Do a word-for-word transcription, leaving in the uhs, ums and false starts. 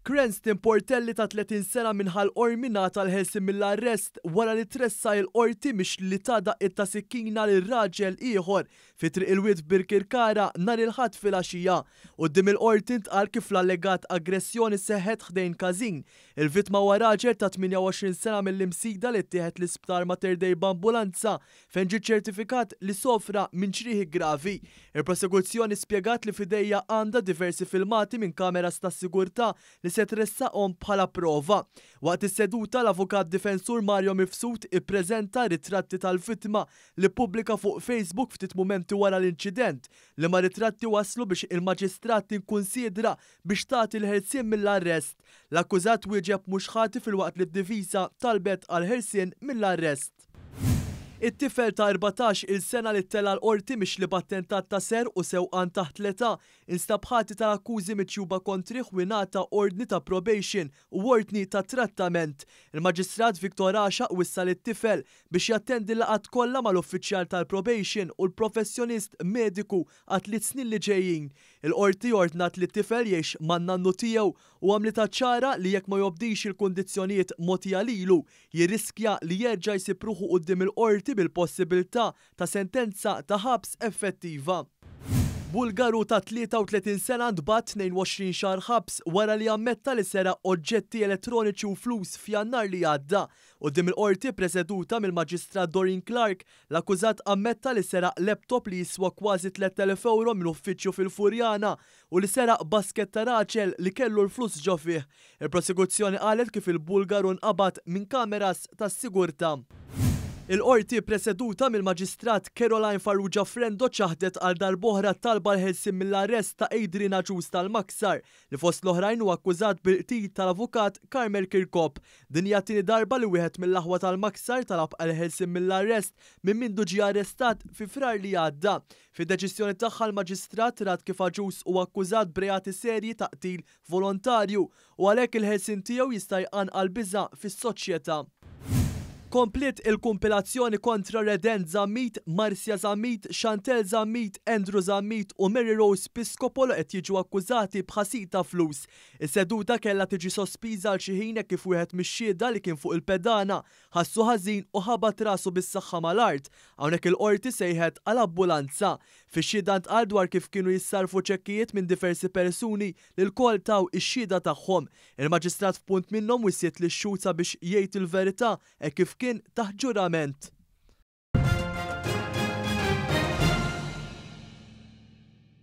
Cranston Portelli ta' tletin sena minn Ħal Qormi ngħata l-ħelsien mill-arrest wara li tressaq il-qorti mixli li ta daqqiet ta' sikkina lil raġel ieħor fi Triq il-Wied f'Birkirkara nhar il-Ħadd filgħaxija. Quddiem il-qorti ntqal kif l-allegat aggressjoni seħħet ħdejn każin. Il-vittma huwa raġel ta' tmienja u għoxrin sena mill-Imsida li ttieħed l-isptar Mater Dei b'ambulanza fejn ġie ċertifikat li sofra minn ġrieħi gravi. Il-prosekuzzjoni spjegat li f'idejha għandha diversi filmati minn kameras tas-sigurtà li se tressaqhom bħala prova. Waqt is-seduta l-avukat difensur Mario Mifsud ippreżenta ritratti tal-vittma li ppubblika fuq Facebook ftit mumenti wara l-inċident, li ma ritratti waslu biex il-maġistrat tinkunsidra biex tagħti l-ħelsien mill-arrest. L-akkużat wieġeb mhux ħati filwaqt li d-difiża talbet għal ħelsien mill-arrest. It-tifel ta' erbatax il sena li ttella' l-qorti mixli b'attentat ta' serq u sewqan taħt l-età instab ħati tal-akkużi miġjuba kontrih u ngħata ordni ta' probation u ordni ta' trattament. Il-Maġistrat Victor Għaxaq wissa lit-tifel biex jattendi l-laqgħat kollha mal-uffiċjal tal-probation u l-professjonist mediku għat tliet snin li ġejjin. Il-qorti ordnat li t-tifel jgħix man-nannu tiegħu u għamlitha ċara li jekk ma jobdix il-kundizzjonijiet mogħtija lilu jirriskja li jerġa' jsib ruħu quddiem il-qorti bil-possibilità ta' sentenza ta' ħabs effettiva. Bulgaru ta' tlieta u tletin sena ntbagħat tnejn u għoxrin xahar ħabs wara li ammetta li seraq oġġetti elettroniċi u flus f'Jannar li għadda. Quddiem il-qorti preseduta mill-Maġistrat Doreen Clarke, l-akkużat ammetta li seraq laptop li jiswa kważi tlett elef euro minn uffiċċju fil-Furjana u li seraq basket ta' raġel li kellu l-flus ġo fih. Il-prosekuzzjoni qalet kif il-Bulgaru nqabad minn kameras tas-sigurtà. Il-qorti preseduta mill-Maġistrat Caroline Farrugia Frendo ċaħdet għal darb'oħra talba l-ħelsien mill-arrest ta' Adrian Agius tal-Maksar li fost l-oħrajn huwa akkużat bil-qtil tal-avukat Carmel Chircop. Din hija t-tieni darba li wieħed mill-aħwa tal-Maksar talab għal ħelsien mill-arrest minn mindu ġie arrestat fi Frar li għadda. Fid-deċiżjoni tagħha l-Maġistrat rat kif Agius huwa akkużat b'reati serji ta' qtil volontarju u għalhekk il-ħelsien tiegħu jista' jqanqal biża' fis-soċjetà. Kompliet il-kumpilazzjoni kontra Reden Zammit, Marcia Zammit, Chantel Zammit, Andrew Zammit u Mary Rose Piscopo li qed jiġu akkużati b'ħasil ta' flus. Is-seduta kellha tiġi sospiża għal xi ħin hekk kif wieħed mix-xhieda li kien fuq il-pedana ħassu ħażin u ħabat rasu bis-saħħa mal-art. Hawnhekk il-qorti sejħet għal ambulanza. Fix-xhieda ntqal dwar kif kienu jissarfu ċekkijiet minn diversi persuni li lkoll taw ix-xhieda tagħhom. Il-maġistrat f'punt minnhom wissiet lix-xhud sabiex jgħid il-verità hekk kif kien taħt ġurament.